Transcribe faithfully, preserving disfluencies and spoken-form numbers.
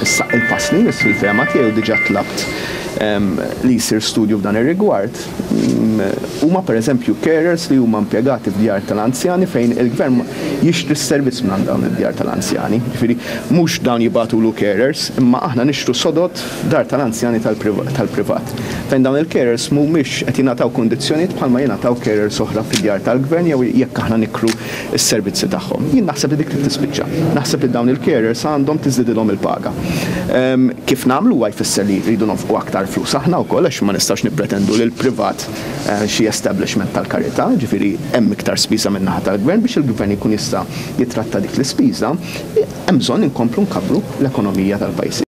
Issa il-pass li jmiss fil-fehma tiegħi, u diġà tlabt li jsir studju f'dan ir-rigward, huma pereżempju carers li huma impjegati f'djar tal-anzjani fejn il-gvern jixtri s-servizz minn dawn id-djar tal-anzjani. Ġifieri mhux dawn jibagħtulu carers, imma aħna nixtru sodod dar tal-anzjani tal-privat. Fejn dawn il-carers mhumiex qed jingħataw kundizzjonijiet bħalma jingħataw carers oħra fid-djar tal-gvern jew jekk aħna nikru s-servizzi tagħhom. Jien naħseb li dik li tispiċċa. Naħseb li dawn il-carers għandhom tiżdidilhom il-paga. Kif nagħmlu huwa jfisser li rridu nonfqu aktar flus aħna wkoll, għax ma nistax nippretendu li l-privat xi establishment tal-karità, ġifieri hemm iktar spiża min-naħa tal-gvern. Biex il-gvern jkun jista' jitratta dik l-ispiża, hemm bżonn inkomplu nkabbru l-ekonomija tal-pajjiż.